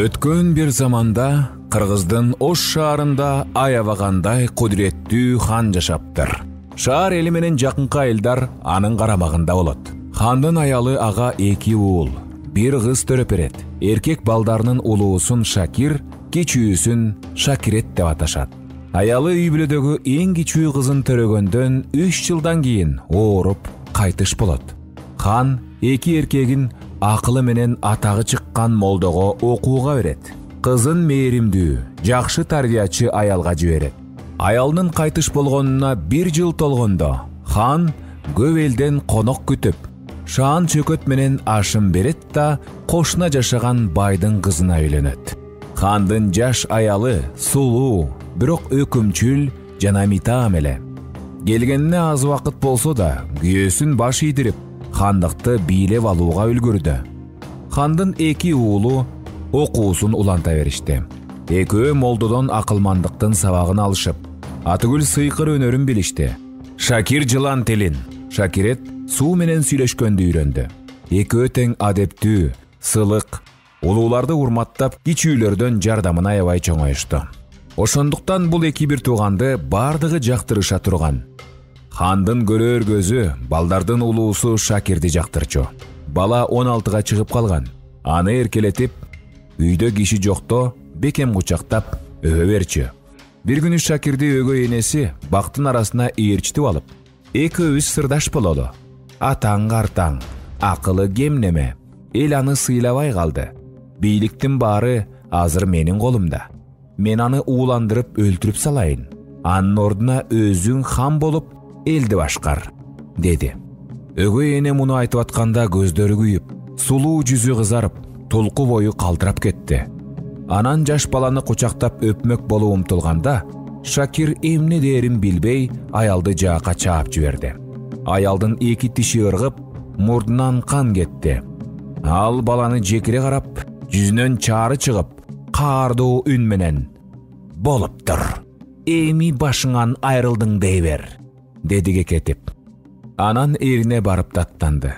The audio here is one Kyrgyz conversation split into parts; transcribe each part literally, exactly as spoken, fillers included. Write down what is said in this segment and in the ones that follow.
Өткөн бир заманда Кыргыздын Ош шаарында аябагандай кудуреттүү хан жашаптыр. Шаар эли менен жакынкы айылдар анын карамагында болот. Хандын аялы ага эки уул, бир кыз төрөп берет. Эркек балдарынын улуусун Шакир, кичүүсүн Шакирет деп аташат. Аялы үй бүлөдөгү эң кичүү кызын төрөгөндөн үч жылдан кийин ооруп кайтыш болот. Хан эки эркегин акылы менен атагы чыккан молдого окууга берет. Кызын мээримдүү, жакшы тарбиячы аялга жиберет. Аялдын кайтыш болгонуна бир жыл толгондо хан көп элден конок күтүп, шаан чөкөт менен ашым берет да кошуна жашаган байдын кызына үйлөнөт. Хандын жаш аялы сулуу, бирок өкүмчүл жана митаам эле. Келгенине аз убакыт болсо да, күйөөсүн баш ийдирип, хандыкты бийлеп алууга үлгүрдү. Хандын эки уулу окуусун уланта беришти. Экөө молдодон акылмандыктын сабагын алышып, атыгүл сыйкыр өнөрүн билишти. Шакир жылан тилин, Шакирет суу менен сүйлөшкөндү үйрөндү. Экөө тең адептүү, сылык, улууларды урматтап, кичүүлөрдөн жардамын аябай чоңоюшту. Ошондуктан бул эки бир тууганды бардыгы жактырыша турган. Хандын көрөр көзү балдардын улуусу Шакирди жактырчу. Бала он алтыга чыгып калган. Аны эркелетип, үйдө киши жокто бекем кучактап өбө берчү. Бир күнү Шакирди өгөй энеси бактын арасына ээрчитип алып, экөөбүз сырдаш бололу. Атаң картаң, акылы кемнеме, эл аны сыйлабай калды. Бийликтин баары азыр менин колумда. Мен аны ууландырып өлтүрүп салайын. Анын ордуна өзүң хан болуп элди башкар, деди. Өгөй эне муну айтып атканда көздөрү күйүп, сулуу жүзү кызарып, толку бою калтырап кетти. Анан жаш баланы кучактап өпмөк болуп умтулганда, Шакир эмне дээрин билбей аялды жаакка чаап жиберди. Аялдын эки тиши ыргып, мурдунан кан кетти. Ал баланы жекире карап, жүзүнөн чаары чыгып, каардуу үн менен: "Болуптур. Эми башыңан айрылдың дей бер", деди кекетип. Анан эрине барып даттанды.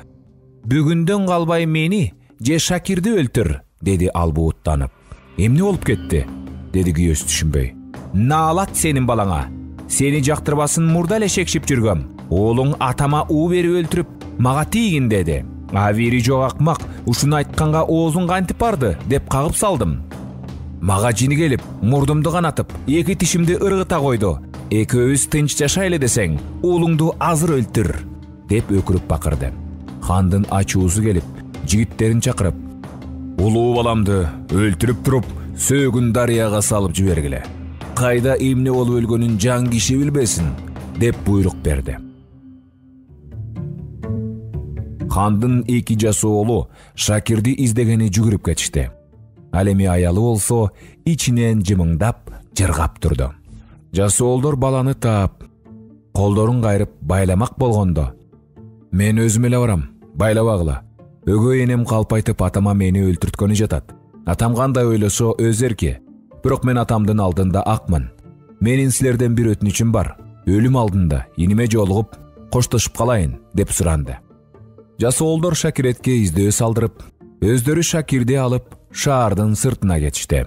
"Бүгүндөн калбай мени же Шакирди өлтүр", деди ал бууттанып. "Эмне болуп кетти?" деди күйөөсү түшүнбөй. "Наалат сенин балаңа. Сени жактырбасын мурда эле шекшип жүргөм. Уулуң атама уу берип өлтүрүп, мага тийгин деди. А бири жок акмак, ушуну айтканга оозуң кантип барды деп кагып салдым. Мага жини келип, мурдумду канатып, эки тишимди ыргыта койду. Экөөбүз тынч жашайлы десең, уулуңду азыр өлтүр", деп өкүрүп бакырды. Хандын ачуусу келип, жигиттерин чакырып: "Улуу баламды өлтүрүп туруп, сөөгүн дарыяга салып жибергиле. Кайда эмне болуп өлгөнүн жан киши билбесин", деп буйрук берди. Хандын эки жаш оолу Шакирди издегени жүгүрүп кетишти. Ал эми аялы болсо ичинен жымыңдап, жыргап турду. Жас оолдор баланы таап, колдорун кайрып байламак болгондо: "Мен өзүм эле барам, байлабагыла. Өгөй энем калпайтып атама мени өлтүрткөнү жатат. Атам кандай ойлосо өз эрки. Бирок мен атамдын алдында акмын. Менин силерден бир өтүнүчүм бар. Өлүм алдында иниме жолугуп, коштошуп калайын", деп суранды. Жас оолдор Шакиретке издөө салдырып, өздөрү Шакирди алып шаардын сыртына кетишти.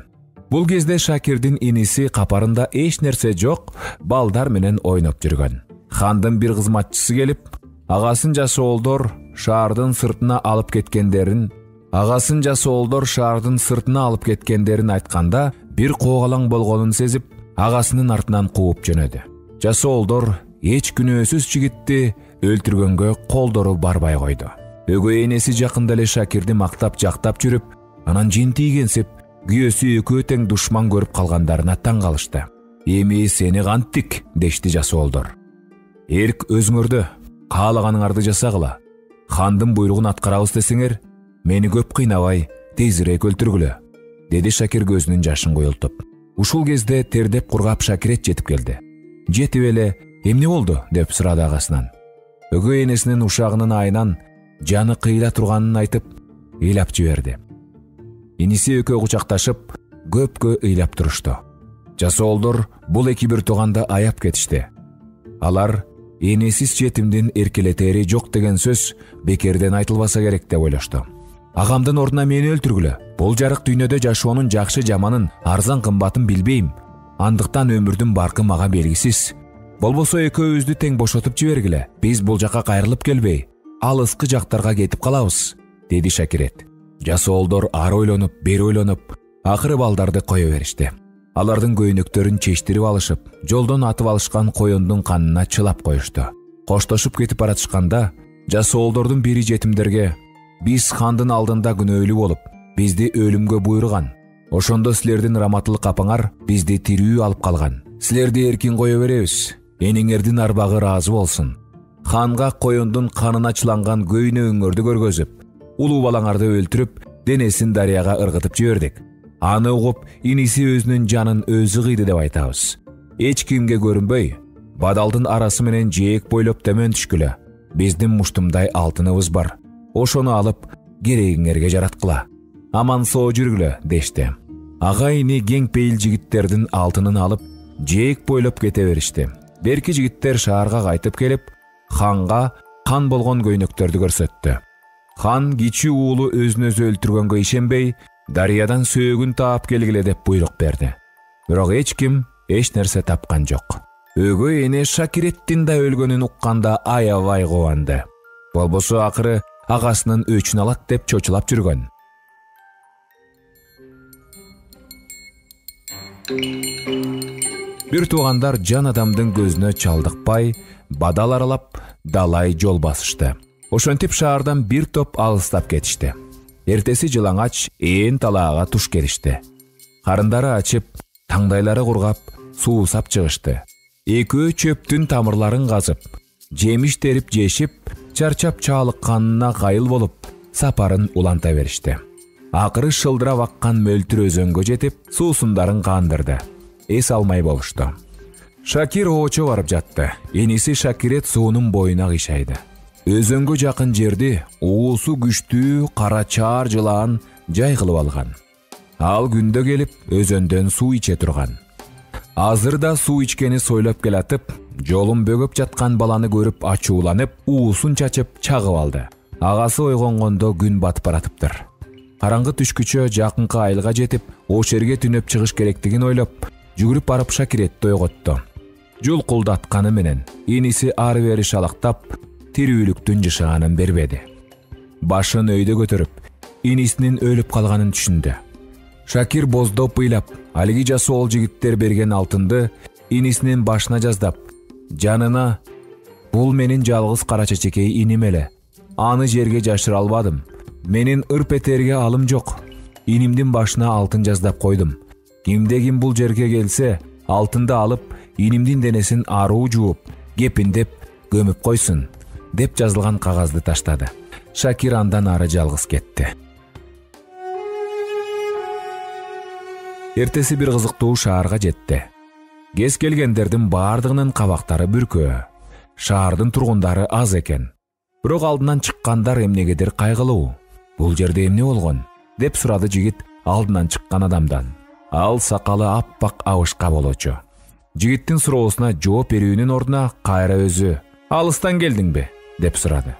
Бул кезде Шакирдин иниси капарында эч нерсе жок, балдар менен ойноп жүргөн. Хандын бир кызматчысы келип, агасын жас оолдор шаардын сыртына алып кеткендерин, агасын жас оолдор шаардын сыртына алып кеткендерин айтканда, бир коогалаң болгонун сезип, агасынын артынан кууп жөнөдү. Жас оолдор эч күнөөсүз жигитти өлтүргөнгө колдору барбай койду. Өгөй энеси жакында эле Шакирди мактап жактап жүрүп, анан жентийгенсип, күйөөсү экөө тең душман көрүп калгандарына таң калышты. "Эми сени канттик", дешти жас оолдор. "Эрк өзүңөрдө, каалаганыңарды жасагыла. Хандын буйругун аткарабыз десеңер, мени көп кыйнабай, тезирээк өлтүргүлө", деди Шакир көзүнүн жашын куйултуп. Ушул кезде тердеп кургап Шакирет жетип келди. Жетип эле: "Эмне болду?" деп сурады агасынан. Өгөй энесинин ушагынын айынан жаны кыйла турганын айтып, ыйлап жиберди. Иниси экөө кучакташып, көпкө ыйлап турушту. Жас оолдор бул эки бир тууганды аяп кетишти. Алар энесиз жетимдин эркелетери жок деген сөз бекерден айтылбаса керек деп ойлошту. агамдын ордуна мени өлтүргүлө. Бул жарык дүйнөдө жашоонун жакшы жаманын, арзан кымбатын билбейм. Андыктан өмүрдүн баркы мага белгисиз. Болбосо экөөбүздү тең бошотуп жибергиле. Биз бул жака кайрылып келбей, алыскы жактарга кетип калабыз, деди Шакирет. Жасоолдор ары ойлонуп, бери ойлонуп, акыры балдарды кое беришти. Алардын көйнөктөрүн чечтирип алышып, жолдон атып алышкан коюндун канына чылап коюшту. Коштошуп кетип баратышканда, жасоолдордун бири жетимдерге: "Биз хандын алдында күнөөлүү болуп, бизди өлүмгө буйруган. Ошондо силердин раматылык апаңар бизди тирүү алып калган. Силерди эркин кое беребиз. Эниңердин арбагы ыраазы болсун. Ханга коюндун канына чыланган көйнөгүңөрдү көргөзүп, улуу балаңарды өлтүрүп, денесин дарыяга ыргытып жибердик. Аны угуп, иниси өзүнүн жанын өзү кыйды деп айтабыз. Эч кимге көрүнбөй, бадалдын арасы менен жээк бойлоп төмөн түшкүлө. Биздин муштумдай алтыныбыз бар. Ошону алып, керегиңерге жараткыла. Аман соо жүргүлө", дешти. Ага ини кең пейил жигиттердин алтынын алып, жээк бойлоп кете беришти. Берки жигиттер шаарга кайтып келип, ханга кан болгон көйнөктөрдү көрсөттү. Хан кичүү уулу өзүн өзү өлтүргөнгө ишенбей, дарыядан сөөгүн таап келгиле деп буйрук берди. Бирок эч ким эч нерсе тапкан жок. Өгөй эне Шакиреттин да өлгөнүн укканда аябай кубанды. Болбосо акыры агасынын өчүн алат деп чочулап жүргөн. Бир туугандар жан адамдын көзүнө чалдыкпай, бадал аралап, далай жол басышты. Ошентип шаардан бир топ алыстап кетишти. Эртеси жылаңач ээн талаага туш келишти. Карындары ачып, таңдайлары кургап, суусап чыгышты. Экөө чөптүн тамырларын казып, жемиш терип жешип, чарчап чаалыкканына кайыл болуп, сапарын уланта беришти. Акыры шылдырап аккан мөлтүр өзөнгө жетип, суусундарын кандырды. Эс алмай болушту. Шакир оочо барып жатты. Эниси Шакирет суунун боюна кыйшайды. Өзөнгө жакын жерди уусу күчтүү кара чаар жылаан жай кылып алган. Ал күндө келип өзөндөн суу иче турган. Азыр да суу ичкени сойлоп келатып, жолун бөгөп жаткан баланы көрүп ачууланып, уусун чачып чагып алды. Агасы ойгонгондо күн батып баратыптыр. Караңгы түшкүчө жакынкы айылга жетип, ош жерге түнөп чыгыш керектигин ойлоп, жүгүрүп барып Шакиретти ойготту. Жулкулдатканы менен иниси ары бери шалактап, тирүүлүктүн жышаанын бербеди. Башын өйдө көтөрүп, инисинин өлүп калганын түшүндү. Шакир боздоп ыйлап, алиги жасоол жигиттер берген алтынды инисинин башына жаздап, жанына: "Бул менин жалгыз кара чечекей иним эле. Аны жерге жашыра албадым. Менин ыр петерге алым жок. Инимдин башына алтын жаздап койдум. Кимде ким бул жерге келсе, алтынды алып, инимдин денесин аруу жууп, кепиндеп, көмүп койсун", деп жазылган кагазды таштады. Шакир андан ары жалгыз кетти. Эртеси бир кызыктуу шаарга жетти. Кез келгендердин баардыгынын кабактары бүркөө. Шаардын тургундары аз экен. Бирок алдынан чыккандар эмнегедир кайгылуу. "Бул жерде эмне болгон?" деп сурады жигит алдынан чыккан адамдан. Ал сакалы аппак абышка болчу. Жигиттин суроосуна жооп берүүнүн ордуна кайра өзү: "Алыстан келдиңби?" деп сурады.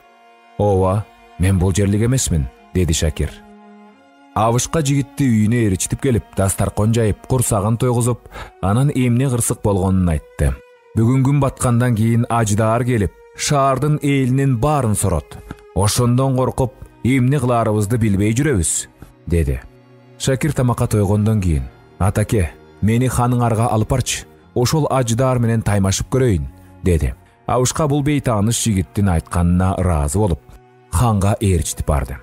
"Ооба, мен бул жерлик эмесмин", деди Шакир. Абышка жигитти үйүнө ээрчитип келип, дастаркон жайып, курсагын тойгузуп, анан эмне кырсык болгонун айтты. "Бүгүн күн баткандан кийин аждаар келип, шаардын элинин баарын сорот. Ошондон коркуп, эмне кылаарыбызды билбей жүрөбүз", деди. Шакир тамакка тойгондон кийин: "Атаке, мени ханыңарга алып барчы. Ошол аждаар менен таймашып көрөйүн", деди. Абышка бул бейтааныш жигиттин айтканына ыраазы болуп, ханга ээрчитип барды.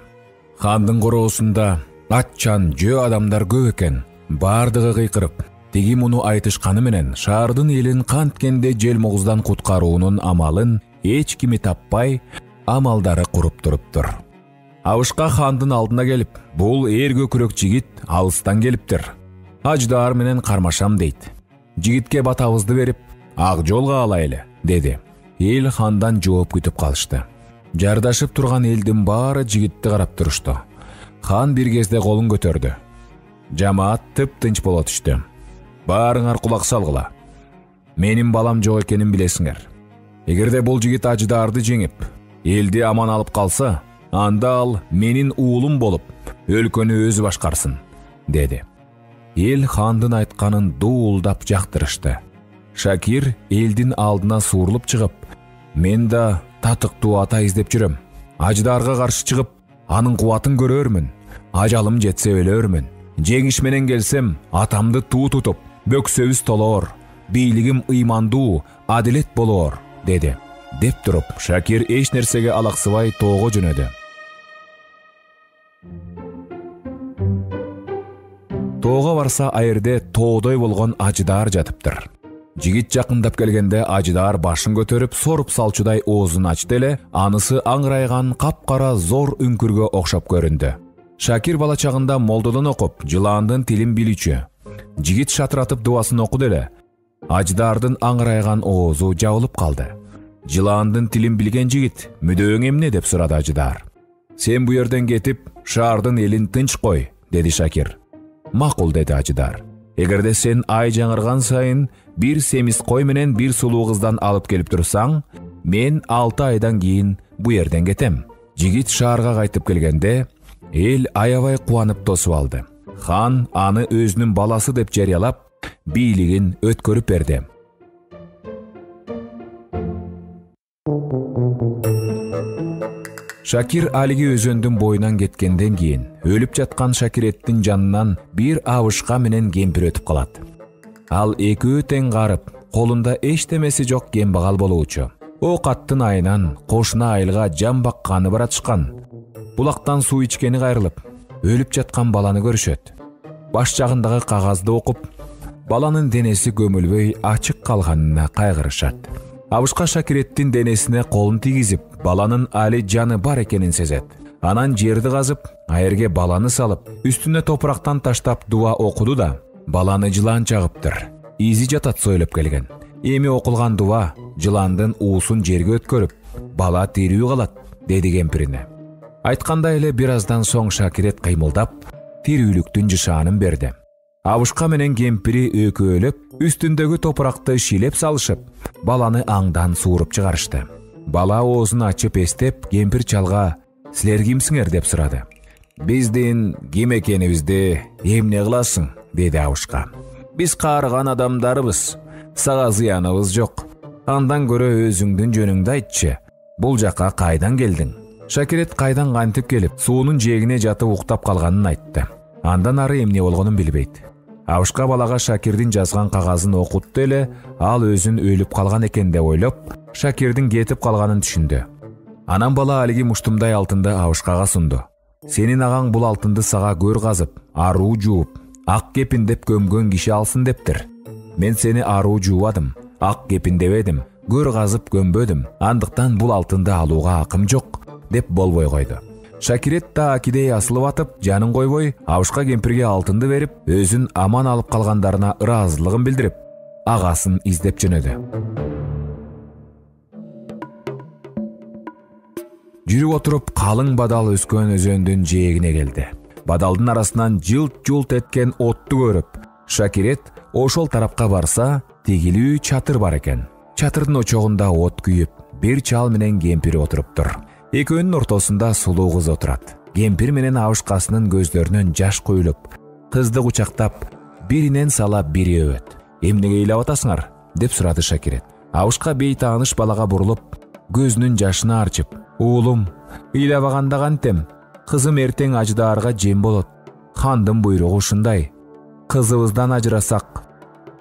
Хандын короосунда атчан жөө адамдар көп экен. Бардыгы кыйкырып, тиги муну айтышканы менен шаардын элин канткенде жел могуздан куткаруунун амалын эч кими таппай, амалдары куруп туруптур. Абышка хандын алдына келип: "Бул эр көкүрөк жигит алыстан келиптир. Аждаар менен кармашам дейт. Жигитке батабызды берип, ак жолго алайлы", деди. Эл хандан жооп күтүп калышты. Жардашып турган элдин баары жигитти карап турушту. Хан бир кезде колун көтөрдү. Жамаат тып-тынч боло түштү. "Баарыңар кулак салгыла. Менин балам жок экенин билесиңер. Эгерде бул жигит аждаарды жеңип, элди аман алып калса, анда ал менин уулум болуп, өлкөнү өзү башкарсын, деди. Эл хандын айтканын дуулдап жактырышты. Шакир элдин алдына суурулуп чыгып, мен да татыктуу ата издеп жүрөм. Ажыдарга каршы чыгып, анын кубатын көрөрмүн. Ажалым жетсе өлөрмүн. Жеңиш менен келсем, атамды туу тутуп, бөксөбүз толоор, бийлигим ыймандуу, адилет болоор, деди. Деп туруп, Шакир эч нерсеге алаксыбай тоого жөнөдү. Тоого барса, айырде тоодой болгон Ажыдаар жатыптыр. Жигит жакындап келгенде Ажыдаар башын көтөрүп, соруп салчудай оозун ачты эле, анысы аңырайган капкара зор үңкүргө окшоп көрүндү. Шакир бала чагында молдодон окуп, жылаандын тилин билүүчү. Жигит шатыратып дуасын окуду эле. Ажыдаардын аңырайган оозу жабылып калды. Жылаандын тилин билген жигит, мүдөөң эмне деп сурады Ажыдаар. Сен бу жерден кетип, шаардын элин тынч кой, деди Шакир. Макул, деди Ажыдаар. Эгерде сен ай жаңырган сайын бир семиз кой менен бир сулуу кыздан алып келип турсаң, мен алты айдан кийин бу жерден кетем. Жигит шаарга кайтып келгенде, эл аябай кубанып тосуп алды. Хан аны өзүнүн баласы деп жарыялап, бийлигин өткөрүп берди. Шакир алиги өзөндүн боюнан кеткенден кийин өлүп жаткан Шакиреттин жанынан бир абышка менен кемпир өтүп калат. Ал экөө тең карып, колунда эчтемеси жок кембагал болуучу. О каттын айынан кошуна айылга жан бакканы баратышкан. Булактан суу ичкени кайрылып, өлүп жаткан баланы көрүшөт. Баш жагындагы кагазды окуп, баланын денеси көмүлбөй ачык калганына кайгырышат. Абышка Шакиреттин денесине колун тийгизип, баланын али жаны бар экенин сезет. Анан жерди казып, айырге баланы салып, үстүнө топурактан таштап дуа окуду да, баланы жылаан чагыптыр. Изи жатат сойлоп келген. Эми окулган дуа жылаандын уусун жерге өткөрүп, бала тирүү калат, деди кемпирине. Айткандай эле бир аздан соң Шакирет кыймылдап, тирүүлүктүн жышаанын берди. Абышка менен кемпири өкөөлөп, үстүндөгү топуракты шилеп салышып, баланы аңдан сууруп чыгарышты. Бала оозун ачып эстеп, кемпир чалга «Силер кимсиңер?» деп сурады. «Биздин ким экенибизди эмне кыласың?» деди Абышка. «Биз каарыган адамдарыбыз, сага зыяныбыз жок. Андан көрө өзүңдүн жөнүңдү айтчы. Бул жакка кайдан келдиң?» Шакирет кайдан кантип келип, суунун жээгине жатып уктап калганын айтты. Андан ары эмне болгонун билбейт. Абышка балага Шакирдин жазган кагазын окутту эле, ал өзүн өлүп калган экен деп ойлоп, Шакирдин кетип калганын түшүндү. Анан бала алиги муштумдай алтынды Абышкага сунду. «Сенин агаң бул алтынды сага көр казып, аруу жууп, ак кепин деп көмгөн киши алсын дептир. Мен сени аруу жуубадым, ак кепин дебедим, көр казып көмбөдүм. Андыктан бул алтынды алууга акым жок», деп болбой койду. Шакирет да акидей асылып атып, жанын койбой, Абышка кемпирге алтынды берип, өзүн аман алып калгандарына ыраазылыгын билдирип, агасын издеп жөнөдү. Жүрүп отуруп, калың бадал өскөн өзөндүн жээгине келди. Бадалдын арасынан жылт-жулт эткен отту көрүп, Шакирет ошол тарапка барса, тегилүү чатыр бар экен. Чатырдын очогунда от күйүп, бир чал менен кемпири отуруптур. Экөөнүн ортосунда сулуу кыз отурат. Кемпир менен Абышкасынын көздөрүнөн жаш куюлуп, кызды кучактап, биринен сала бири өбөт. «Эмнеге ыйлап атасыңар?» деп сурады Шакирет. Абышка бейтааныш балага бурулуп, көзүнүн жашын арчып, «Уулум, ыйлабаганда кантем? Кызым эртең Ажыдаарга жем болот. Хандын буйругу ушундай. Кызыбыздан ажырасак,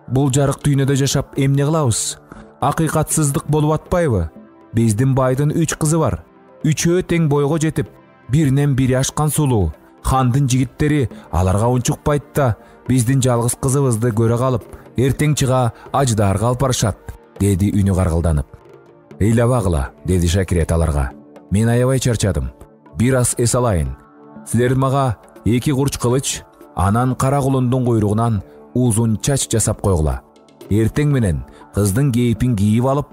бул жарык дүйнөдө жашап эмне кылабыз? Акыйкатсыздык болуп атпайбы? Биздин байдын үч кызы бар. Үчөө тең бойго жетип, биринен бири ашкан сулуу. Хандын жигиттери аларга унчукпайт да, биздин жалгыз кызыбызды көрө калып, эртең чыга Ажыдаарга алып барышат», деди үнү каргылданып. «Ыйлабагыла», деди Шакирет аларга. «Мен аябай чарчадым. Бир аз эс алайын. Силер мага эки курч кылыч, анан кара кулундун куйругунан узун чач жасап койгула. Эртең менен кыздын кейпин кийип алып,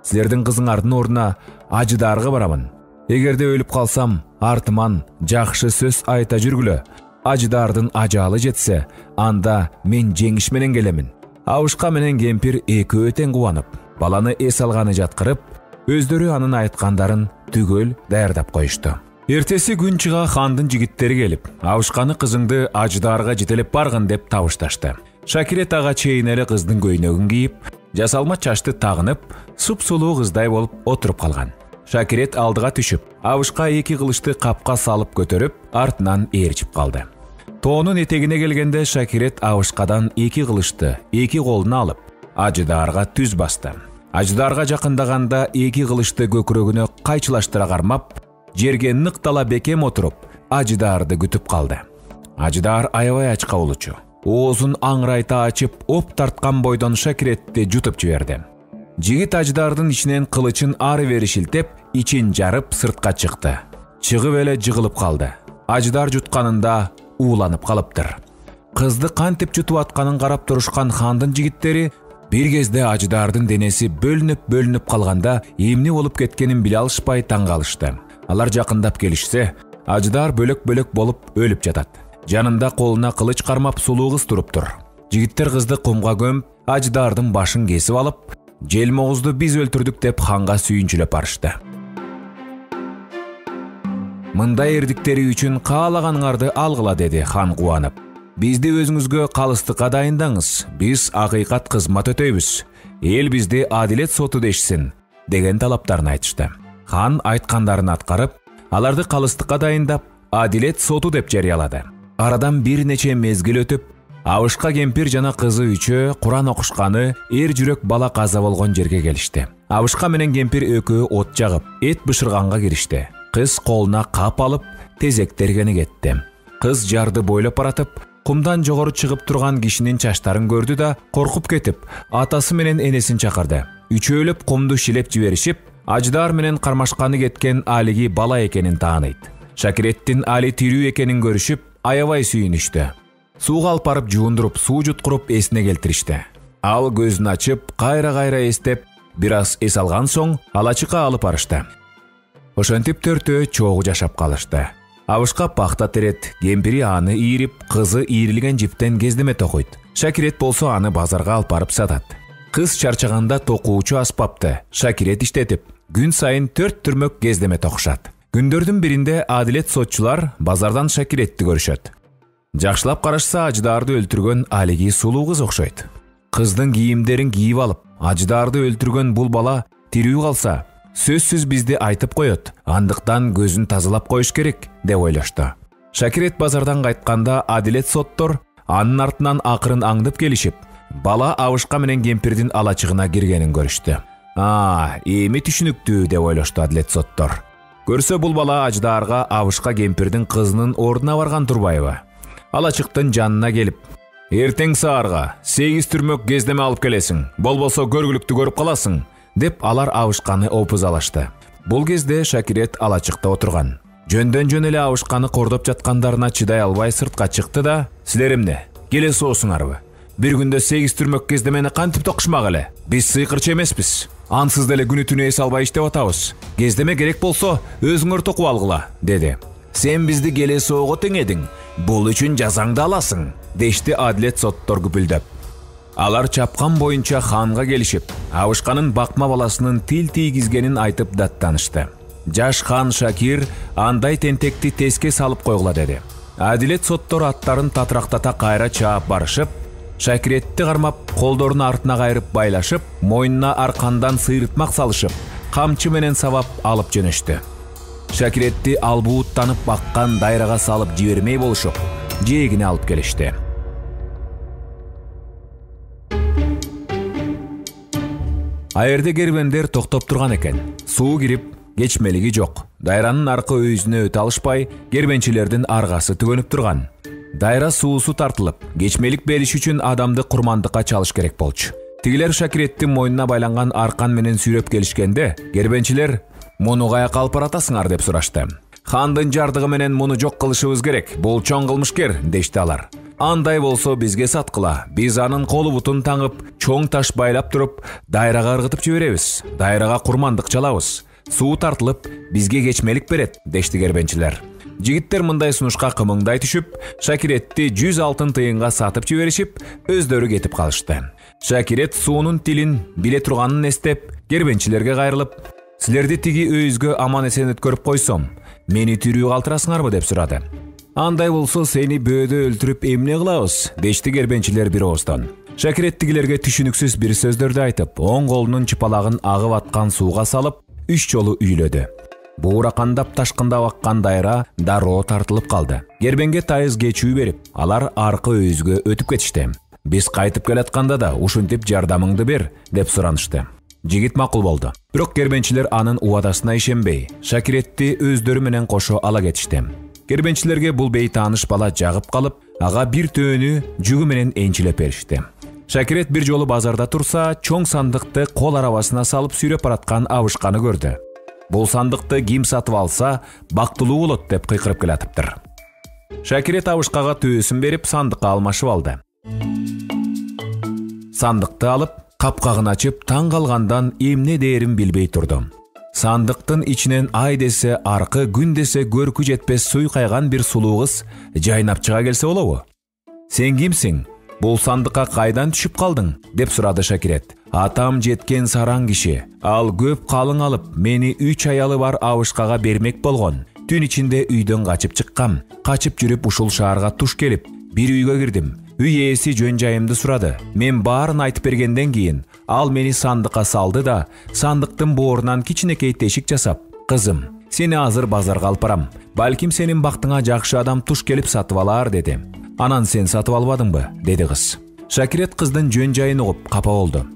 силердин кызыңардын ордуна Ажыдаарга барамын. Эгерде өлүп калсам, артыман жакшы сөз айта жүргүлө. Ажыдаардын ажалы жетсе, анда мен жеңиш менен келемин». Абышка менен кемпир экөө тең кубанып, баланы эс алганы жаткырып, өздөрү анын айткандарын түгөл даярдап коюшту. Эртеси күн чыга хандын жигиттери келип, Абышканы кызыңды Ажыдаарга жетелеп баргын деп табышташты. Шакирет ага чейинели кыздын көйнөгүн кийип, жасалма чачты тагынып, суп-сулуу кыздай болуп отуруп калган. Шакирет алдыга түшүп, Абышка эки кылычты капка салып көтөрүп, артынан ээрчип калды. Тоонун этегине келгенде Шакирет Абышкадан эки кылычты эки колуна алып, Ажыдаарга түз басты. Ажыдаарга жакындаганда эки кылычты көкүрөгүнө кайчылаштыра кармап, жерге ныктала бекем отуруп, Ажыдаарды күтүп калды. Ажыдаар аябай ачка болчу. Оозун аңырайта ачып, оп тарткан бойдон Шакиретти жутуп жиберди. Жигит Ажыдаардын ичинен кылычын ары-бери шилтеп, ичин жарып сыртка чыкты. Чыгып эле жыгылып калды. Ажыдаар жутканында ууланып калыптыр. Кызды кантип жутуп атканын карап турушкан хандын жигиттери бир кезде Ажыдаардын денеси бөлүнүп-бөлүнүп калганда эмне болуп кеткенин биле алышпай таң калышты. Алар жакындап келишсе, Ажыдаар бөлөк-бөлөк болуп өлүп жатат. Жанында колуна кылыч кармап сулуу кыз туруптур. Жигиттер кызды кумга көмүп, Ажыдаардын башын кесип алып, Желмогузду биз өлтүрдүк деп ханга сүйүнчүлөп барышты. Мындай эрдиктери үчүн каалаганыңарды алгыла, деди хан кубанып. Бизди өзүңүзгө калыстыкка дайындаңыз, биз акыйкат кызмат өтөйбүз. Эл бизди адилет соту дешсин, деген талаптарын айтышты. Хан айткандарын аткарып, аларды калыстыкка дайындап, адилет соту деп жарыялады. Арадан бир нече мезгил өтүп, Абышка кемпир жана кызы үчөө Куран окушканы эр жүрөк бала каза болгон жерге келишти. Абышка менен кемпир экөө от жагып, эт бышырганга киришти. Кыз колуна кап алып, тезектергени кетти. Кыз жарды бойлоп баратып, кумдан жогору чыгып турган кишинин чачтарын көрдү да, коркуп кетип, атасы менен энесин чакырды. Үчөөлөп кумду шилеп жиберишип, Ажыдаар менен кармашканы кеткен Алиги бала экенин тааныйт. Шакиреттин Али тирүү экенин көрүшүп, аябай сүйүнүштү. Сууга алып барып жуундуруп, суу жуткуруп эсине келтиришти. Ал көзүн ачып, кайра-кайра эстеп, бир аз эс алган соң алачыкка алып барышты. Ошентип төртөө чогуу жашап калышты. Абышка пахта терет, кемпири аны ийрип, кызы ийрилген жиптен кездеме токуйт. Шакирет болсо аны базарга алып барып сатат. Кыз чарчаганда токуучу аспапты Шакирет иштетип, күн сайын төрт түрмөк кездеме токушат. Күндөрдүн биринде адилет сотчулар базардан Шакиретти көрүшөт. Жакшылап карашса, Ажыдаарды өлтүргөн Алиги сулуу кыз окшойт. Кыздын кийимдерин кийип алып, Ажыдаарды өлтүргөн бул бала тирүү калса, сөзсүз бизди айтып коет. Андыктан көзүн тазалап коюш керек, деп ойлошту. Шакирет базардан кайтканда адилет соттор анын артынан акырын аңдып келишип, бала Абышка менен кемпирдин алачыгына киргенин көрүштү. А, эми түшүнүктүү, деп ойлошту адилет соттор. Көрсө бул бала Ажыдаарга Абышка кемпирдин кызынын ордуна барган турбайбы? Алачыктын жанына келип, эртең саарга сегиз түрмөк кездеме алып келесиң, болбосо көргүлүктү көрүп каласың, деп алар Абышканы опузалашты. Бул кезде Шакирет алачыкта отурган. Жөндөн жөн эле Абышканы кордоп жаткандарына чыдай албай сыртка чыкты да, силер эмне, келе соосуңарбы? Бир күндө сегиз түрмөк кездемени кантип токушмак эле? Биз сыйкырчы эмеспиз. Ансыз деле күнү түнү эс албай иштеп атабыз. Кездеме керек болсо, өзүңөр токуп алгыла, деди. Сен бизди келе соого теңедиң, бул үчүн жазаңды аласың, дешти адилет соттор күпүлдөп. Алар чапкан боюнча ханга келишип, Абышканын бакма баласынын тил тийгизгенин айтып даттанышты. Жаш хан Шакир андай тентекти теске салып койгула, деди. Адилет соттор аттарын татрактата кайра чаап барышып, Шакиретти кармап, колдорун артына кайрып байлашып, мойнуна аркандан сыйрытмак салышып, камчы менен сабап алып жөнөштү. Шакиретти албууттанып баккан дайрага салып жибермей болушуп, жээгине алып келишти. Айырды кербендер токтоп турган экен. Суу кирип, кечмелиги жок. Дайранын аркы өйүзүнө өтө алышпай, кербенчилердин аргасы түгөнүп турган. Дайра суусу тартылып, кечмелик бериш үчүн адамды курмандыкка чалыш керек болчу. Тигилер Шакиреттин мойнуна байланган аркан менен сүйрөп келишкенде, кербенчилер муну каяка алып баратасыңар деп сурашты. Хандын жардыгы менен муну жок кылышыбыз керек. Бул чоң кылмышкер, дешти алар. Андай болсо бизге саткыла. Биз анын колу бутун таңып, чоң таш байлап туруп, дайрага ыргытып жиберебиз. Дайрага курмандык чалабыз. Суу тартылып, бизге кечмелик берет, дешти кербенчилер. Жигиттер мындай сунушка кымыңдай түшүп, Шакиретти жүз алтын тыйынга сатып жиберишип, өздөрү кетип калышты. Шакирет суунун тилин биле турганын эстеп, кербенчилерге кайрылып, силерди тиги өйүзгө аман эсен өткөрүп койсом, мени тирүү калтырасыңарбы деп сурады. Андай болсо сени бөөдө өлтүрүп эмне кылабыз, дешти кербенчилер бир ооздон. Шакиреттигилерге түшүнүксүз бир сөздөрдү айтып, оң колунун чыпалагын агып аткан сууга салып, үч жолу үйлөдү. Бууракандап ташкындап аккан дайра дароо тартылып калды. Кербенге тайыз кечүү берип, алар аркы өйүзгө өтүп кетишти. Биз кайтып келатканда да ушинтип жардамыңды бер деп суранышты. Жигит макул болду. Бирок кербенчилер анын убадасына ишенбей, Шакиретти өздөрү менен кошо ала кетишти. Кербенчилерге бул бейтааныш бала жагып калып, ага бир төөнү жүгү менен энчилеп беришти. Шакирет бир жолу базарда турса, чоң сандыкты кол арабасына салып сүйрөп бараткан абышканы көрдү. Бул сандыкты ким сатып алса, бактылуу болот деп кыйкырып келатыптыр. Шакирет абышкага төөсүн берип, сандыкка алмашып алды. Сандыкты алып, капкагын ачып, таң калгандан эмне дээрин билбей турду. Сандыктын ичинен ай десе аркы, күн десе көркү жетпес суйкайган бир сулуу кыз жайнап чыга келсе болобу? Сен кимсиң? Бул сандыкка кайдан түшүп калдың? Деп сурады Шакирет. Атам жеткен сараң киши. Ал көп калың алып, мени үч аялы бар абышкага бермек болгон. Түн ичинде үйдөн качып чыккам. Качып жүрүп ушул шаарга туш келип, бир үйгө кирдим. Үй ээси жөн жайымды сурады. Мен баарын айтып бергенден кийин, ал мени сандыкка салды да, сандыктын боорунан кичинекей тешик жасап, "Кызым, сени азыр базарга алып барам. Балким сенин бактыңа жакшы адам туш келип сатып алар" деди. "Анан сен сатып албадыңбы?" деди кыз. Шакирет кыздын жөн жайын угуп капа болду.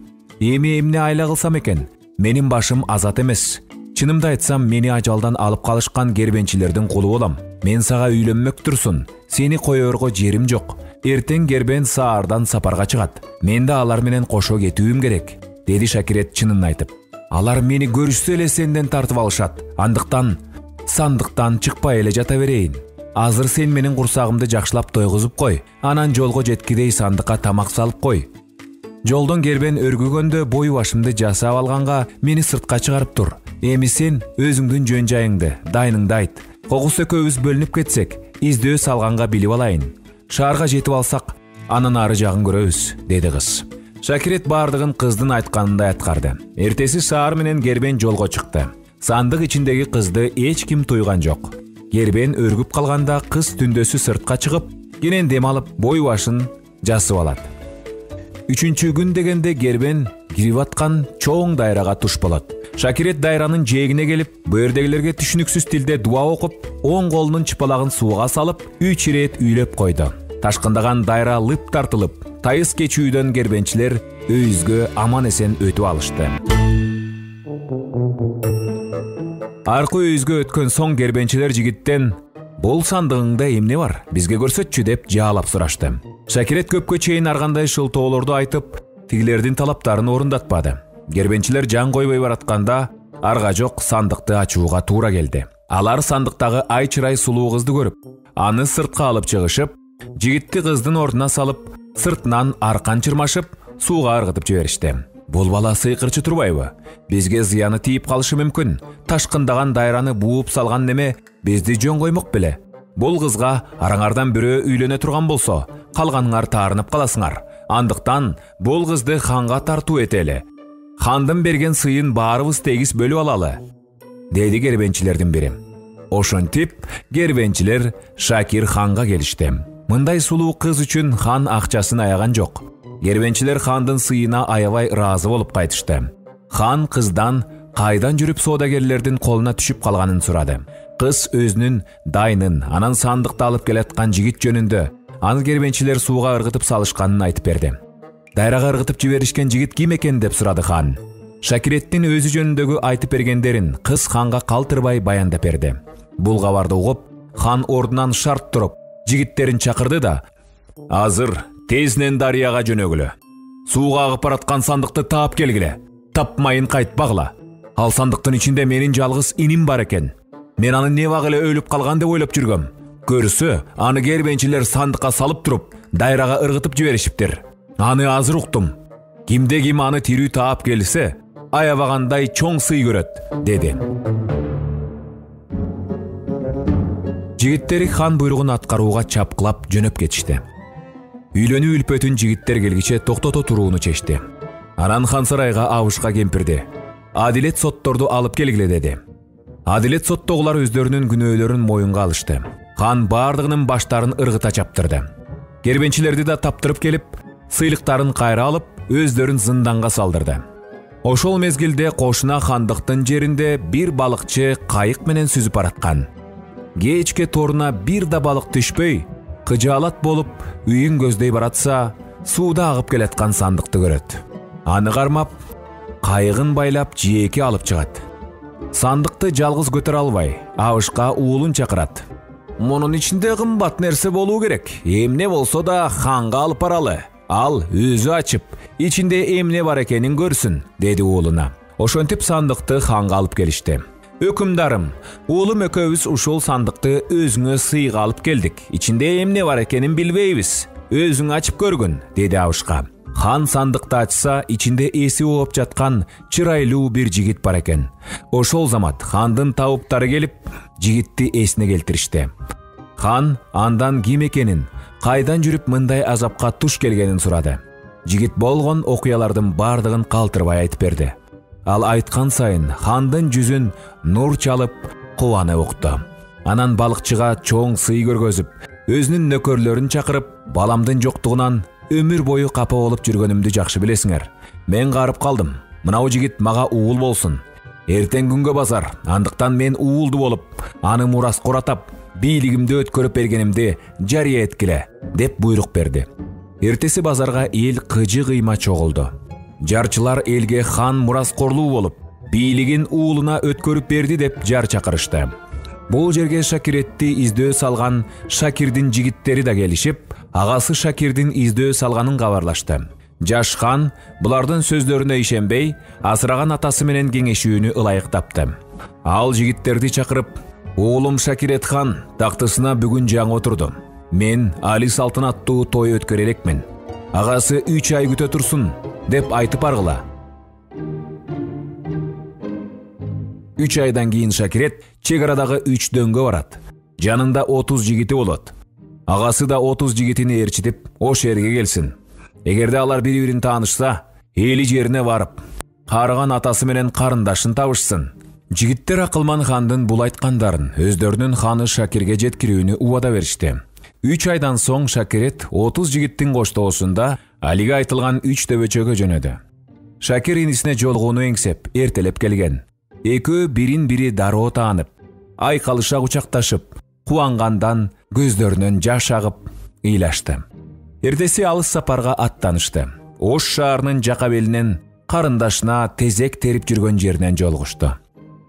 "Эми эмне айла кылсам экен? Менин башым азат эмес. Чынымды айтсам, мени ажалдан алып калышкан кербенчилердин кулу болом. Мен сага үйлөнмөктүрсүн. Сени коерго жерим жок. Эртең кербен саардан сапарга чыгат. Мен да алар менен кошо кетүүм керек", деди Шакирет чынын айтып. "Алар мени көрүшсө эле сенден тартып алышат. Андыктан сандыктан чыкпай эле жата берейин. Азыр сен менин курсагымды жакшылап тойгузуп кой. Анан жолго жеткидей сандыкка тамак салып кой. Жолдон кербен өргүгөндө бою башымды жасап алганга мени сыртка чыгарып тур. Эми сен өзүңдүн жөн жайыңды, дайныңды айт. Когус экөөбүз бөлүнүп кетсек, издөө салганга билип алайын. Шаарга жетип алсак, анын ары жагын көрөбүз", деди кыз. Шакирет бардыгын кыздын айтканындай аткарды. Эртеси шаар менен кербен жолго чыкты. Сандык ичиндеги кызды эч ким туйган жок. Кербен өргүп калганда кыз түндөсү сыртка чыгып, кенен дем алып, бою башын жасып алат. Үчүнчү күн дегенде кербен кирип аткан чоң дайрага туш болот. Шакирет дайранын жээгине келип, бөөрдөгүлөргө түшүнүксүз тилде дуа окуп, оң колунун чыпалагын сууга салып, үч ирет үйлөп койду. Ташкындаган дайра лып тартылып, тайыз кечүүдөн кербенчилер өйүзгө аман эсен өтүп алышты. Аркы өйүзгө өткөн соң кербенчилер жигиттен "Бул сандыгыңда эмне бар? Бизге көрсөтчү" деп жаалап сурашты. Шакирет көпкө чейин аргандай шылтоолорду айтып, тигилердин талаптарын орундатпады. Кербенчилер жан койбой баратканда, арга жок сандыкты ачууга туура келди. Алар сандыктагы ай чырай сулуу кызды көрүп, аны сыртка алып чыгышып, жигитти кыздын ордуна салып, сыртынан аркан чырмашып, сууга ыргытып жиберишти. "Бул бала сыйкырчы турбайбы? Бизге зыяны тийип калышы мүмкүн. Ташкындаган дайраны бууп салган неме бизди жөн коймок беле? Бул кызга араңардан бирөө үйлөнө турган болсо, калганыңар таарынып каласыңар. Андыктан бул кызды ханга тартуу этели. Хандын берген сыйын баарыбыз тегиз бөлүп алалы", деди кербенчилердин бири. Ошентип, кербенчилер Шакир ханга келишти. Мындай сулуу кыз үчүн хан акчасын аяган жок. Кербенчилер хандын сыйына аябай ыраазы болуп кайтышты. Хан кыздан кайдан жүрүп соодагерлердин колуна түшүп калганын сурады. Кыз өзүнүн дайнын, анан сандыкты алып келаткан жигит жөнүндө, аны кербенчилер сууга ыргытып салышканын айтып берди. "Дайрага ыргытып жиберишкен жигит ким экен?" деп сурады хан. Шакиреттин өзү жөнүндөгү айтып бергендерин кыз ханга калтырбай баяндап берди. Бул кабарды угуп, хан ордунан шарт туруп, жигиттерин чакырды да: "Азыр тезнен дарыяга жөнөгүлө. Сууга агып бараткан сандыкты таап келгиле. Тапмайын кайтпагыла. Ал сандыктын ичинде менин жалгыз иним бар экен. Мен аны не багы эле өлүп калган деп ойлоп жүргөм. Көрсө, аны кербенчилер сандыкка салып туруп, дайрага ыргытып жиберишиптир. Аны азыр уктум. Кимде ким аны тирүү таап келсе, аябагандай чоң сый көрөт", деди. Жигиттери хан буйругун аткарууга чапкылап жөнөп кетишти. Үйлөнүү үлпөтүн жигиттер келгиче токтото турууну чечти. Анан хан сарайга абышка кемпирди: "Адилет сотторду алып келгиле" деди. Адилет соттогулар өздөрүнүн күнөөлөрүн моюнга алышты. Хан бардыгынын баштарын ыргыта чаптырды. Кербенчилерди да таптырып келип, сыйлыктарын кайра алып, өздөрүн зынданга салдырды. Ошол мезгилде кошуна хандыктын жеринде бир балыкчы кайык менен сүзүп бараткан. Кечке торуна бир да балык түшпөй, кыжаалат болуп, үйүн көздөй баратса, сууда агып келаткан сандыкты көрөт. Аны кармап, кайыгын байлап жээкке алып чыгат. Сандыкты жалгыз көтөрө албай, абышка уулун чакырат. Мунун ичинде кымбат нерсе болуу керек. Эмне болсо да ханга алып баралы. Ал өзү ачып, ичинде эмне бар экенин көрсүн, деди уулуна. Ошентип сандыкты ханга алып келишти. Өкүмдарым, уулум экөөбүз ушул сандыкты өзүңө сыйга алып келдик. Ичинде эмне бар экенин билбейбиз. Өзүң ачып көргүн, деди абышка. Хан сандыкты ачса, ичинде эси ооп жаткан чырайлуу бир жигит бар экен. Ошол замат хандын табыптары келип, жигитти эсине келтиришти. Хан андан ким экенин, кайдан жүрүп мындай азапка туш келгенин сурады. Жигит болгон окуялардын бардыгын калтырбай айтып берди. Ал айткан сайын хандын жүзүн нур чалып, кубана укту. Анан балыкчыга чоң сый көргөзүп, өзүнүн нөкөрлөрүн чакырып, баламдын жоктугунан өмүр бою капа болуп жүргөнүмдү жакшы билесиңер. Мен карып калдым. Мынау жигит мага уул болсун. Эртең күнгө базар, андыктан мен уулду болуп, аны мураскор атап, бийлигимди өткөрүп бергенимди жарыя эткиле, деп буйрук берди. Эртеси базарга эл кыжы кыйма чогулду. Жарчылар элге хан мураскорлуу болуп, бийлигин уулуна өткөрүп берди деп жар чакырышты. Бул жерге Шакиретти издөө салган Шакирдин жигиттери да келишип, агасы Шакирдин издөө салганын кабарлашты. Жаш хан булардын сөздөрүнө ишенбей, асыраган атасы менен кеңешүүнү ылайык тапты. Ал жигиттерди чакырып, уулум Шакирет хан тактысына бүгүн жаңы отурду. Мен али салтанаттуу той өткөрө элекмин. Агасы үч ай күтө турсун, деп айтып аргыла. Үч айдан кийин Шакирет чек арадагы үч дөңгө барат. Жанында отуз жигити болот. Агасы да отуз жигитини ээрчитип, ош жерге келсин. Эгерде алар бири-бирин таанышса, эли жерине барып, карыган атасы менен карындашын табышсын. Жигиттер акылман хандын бул айткандарын өздөрүнүн ханы Шакирге жеткирүүнү убада беришти. Үч айдан соң Шакирет отуз жигиттин коштоосунда Алиге айтылган үч дөбөчөгө жөнөдү. Шакир инисине жолугууну эңсеп, эртелеп келген. Экөө бирин-бири дароо таанып, айкалыша кучакташып, кубангандан көздөрүнөн жаш агып, ыйлашты. Эртеси алыс сапарга аттанышты. Ош шаарынын жака белинен карындашына тезек терип жүргөн жеринен жолугушту.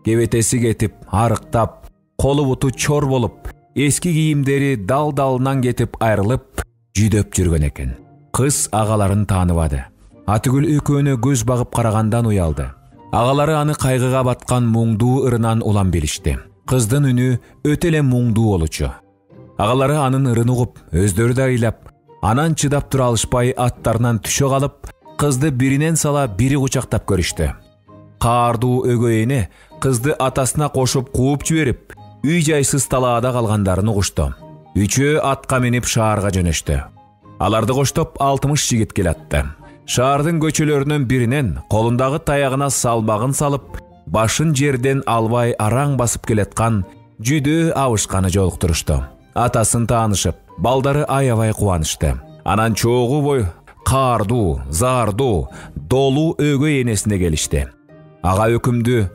Кебетеси кетип, арыктап, колу буту чор болуп, эски кийимдери дал-далынан кетип айрылып, жүдөп жүргөн экен. Кыз агаларын тааныбады. Атүгүл экөөнө көз багып карагандан уялды. Агалары аны кайгыга баткан муңдуу ырынан улам билишти. Кыздын үнү өтө эле муңдуу болчу. Агалары анын ырын угуп, өздөрү да ыйлап, анан чыдап тура алышпай аттарынан түшө калып, кызды биринен сала бири кучактап көрүштү. Каардуу өгөй эне кызды атасына кошуп кууп жиберип, үй жайсыз талаада калгандарын угушту. Үчөө атка минип шаарга жөнөштү. Аларды коштоп алтымыш жигит келатты. Шаардын көчөлөрүнөн биринен колундагы таягына салмагын салып, башын жерден албай араң басып келаткан жүдөө абышканы жолуктурушту. Атасын таанышып, балдары аябай кубанышты. Анан чогуу бой каардуу, заардуу, долуу өгөй энесине келишти. Ага өкүмдү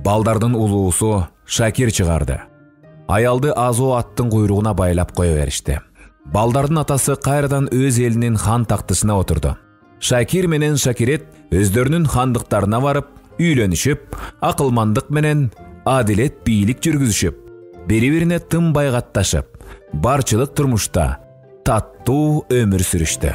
балдардын улуусу Шакир чыгарды. Аялды азоо аттын куйругуна байлап кое беришти. Балдардын атасы кайрадан өз элинин хан тактысына отурду. Шакир менен Шакирет өздөрүнүн хандыктарына барып, үйлөнүшүп, акылмандык менен адилет бийлик жүргүзүшүп, бири-бирине тым байгатташып, барчылык турмушта таттуу өмүр сүрүштү.